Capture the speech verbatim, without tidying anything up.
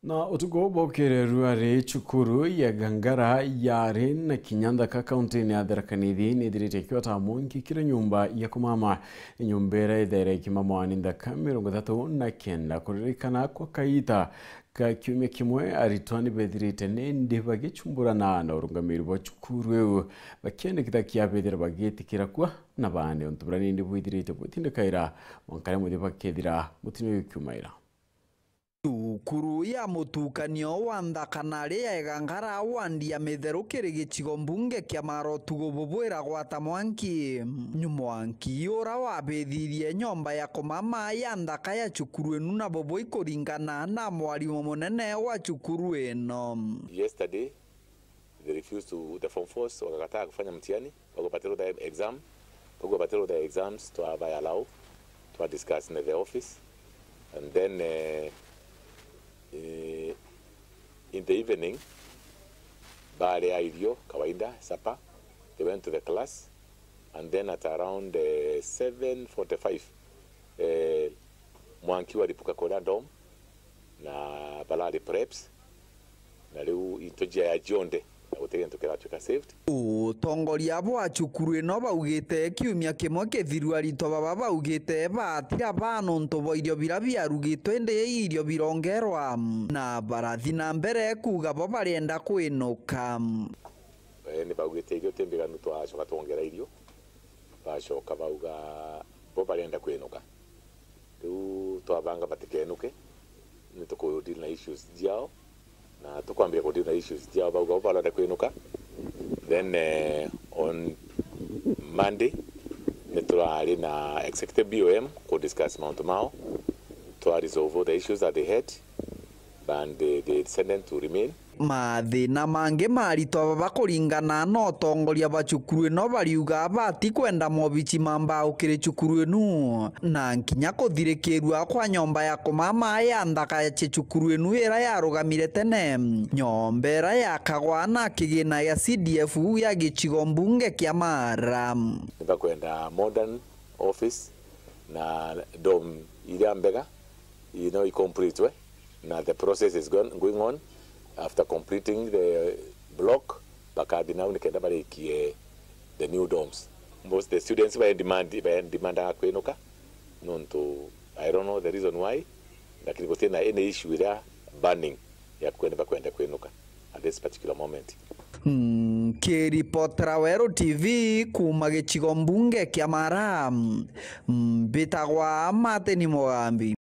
Na utuku bwa ukireru ari cukuru ya Gangara yari na kinya nthaka kaunti-ini ya Tharaka Nithi nithirite ikiota mwanki kiri nyumba ya kumama. Nyumba iria ithaire ikimamwa ni nthaka mirongo ithatu na kenda. Kuririkana kwa kaita ka kiumia kimwe, aritwa ni bethirite nindi bagichumburana na urungamiri bwa cukuru iu, bakienda kitha kiabethira bagitikira kwa na bande untu buria nindi bwithirite bwitindikaira mwanka riria muthia bakethira mutino uyu ukiumaira. Cukuru ya mutukanio wa nthaka na ri ya Igangara wandi ya Mitheru kiri gicigo mbunge kia Mara utuku bubu iragwata mwanki. Mwanki ura wabithirie nyomba ya kumama ya nthaka ya cukuru inu na bubu ikuringana na mwarimu munene wa cukuru ino. Yesterday, they refused to, the form fours wakakataa kufanya mtihani, wakupatia the exam, wakupatia the exams, twabae allow, twa discuss na the office, and then, eh, eh, in the evening, baria irio kawaida, supper, they went to the class, and then at around, eh, seven forty-five, eh, mwanki waripuka kuria dom, na barari preps, na riu into jia ya jionde, na guti gintu kiratuika saved. Utongoria bwa cukuru ino baugite kiumia kimwe kithiru aritwa baba baugite batira baa nontu bwa irio biria biarugitwe, indi irio birongerwa, na barathi na mbere kuuga bo barienda kwinuka. Eh, ni baugite irio ti mbiganu, twacoka twongera irio, bacoka bauga bo barienda kwinuka. Riu twabanga batikenuke, ni tuku deal na issues ciao, na tukwambia ku deal na issues ciao, bauga bo barenda kwinuka. Then, eh, on Monday, ni turari na executive B O M ku discuss mauntu mao, twa resolve all the issues that they had, and they, they decided to remain. Mathina mangi maritwa baba kuringana na utongoria bwa cukuru ino bariuga bati kwenda mobici ma mbao kiri cukuru inu, na nkinya kuthirikirua kwa nyomba ya kumama ya nthaka ya cukuru inu ira yarugamire tene, nyomba ira yakagwa na kigina gia C D F ya gicigo mbunge kia Mara. Nibakwenda modern office na dom iria mbega, you know, i complete we, na the process is going, going on. After completing the block, bakathi nau nikenda barikie the new dorms. Most the students ba demand, ba demandaga kwinuka, nontu I don't know the reason why, lakini gutina any issue iria burning ya kwenda, bakwenda kwinuka at this particular moment. Nkiripotera Weru T V kuuma gicigo mbunge kia Mara, mbitagwa Martin Mugambi.